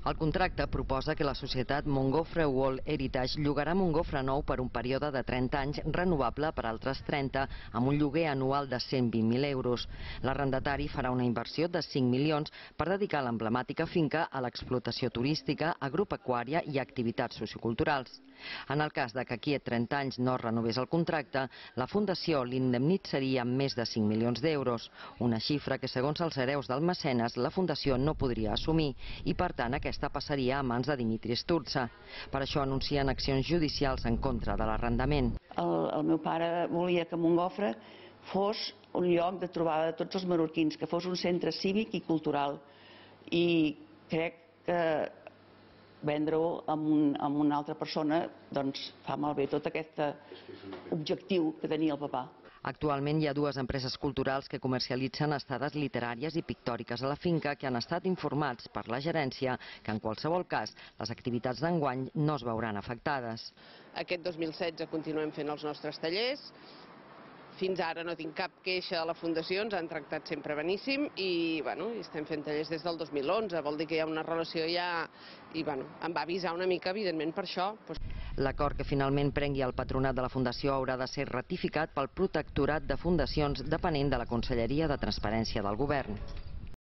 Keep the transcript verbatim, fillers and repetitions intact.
El contracte proposa que la societat Montgofre World Heritage llogarà Montgofre nou per un període de trenta anys renovable per altres trenta, amb un lloguer anual de cent vint mil euros. L'arrendatari farà una inversió de cinc milions per dedicar l'emblemàtica finca a l'explotació turística, agropecuària i activitats socioculturals. En el cas de que aquí a trenta anys no es renovés el contracte, la Fundació l'indemnitzaria amb més de cinc milions d'euros, una xifra que, segons els hereus del mecenes, la Fundació no podria assumir i, per tant, aquesta passaria a mans de Dimitri Sturza. Per això anuncien accions judicials en contra de l'arrendament. El, el meu pare volia que Montgofre fos un lloc de trobada de tots els menorquins, que fos un centre cívic i cultural. I crec que vendre-ho amb, un, amb una altra persona doncs fa malbé tot aquest objectiu que tenia el papà. Actualment hi ha dues empreses culturals que comercialitzen estades literàries i pictòriques a la finca que han estat informats per la gerència que en qualsevol cas les activitats d'enguany no es veuran afectades. Aquest dos mil setze continuem fent els nostres tallers. Fins ara no tinc cap queixa de la Fundació, ens han tractat sempre beníssim i bueno, estem fent tallers des del dos mil onze, vol dir que hi ha una relació ja i bueno, em va avisar una mica evidentment per això. L'acord que finalment prengui el patronat de la Fundació haurà de ser ratificat pel Protectorat de Fundacions depenent de la Conselleria de Transparència del Govern.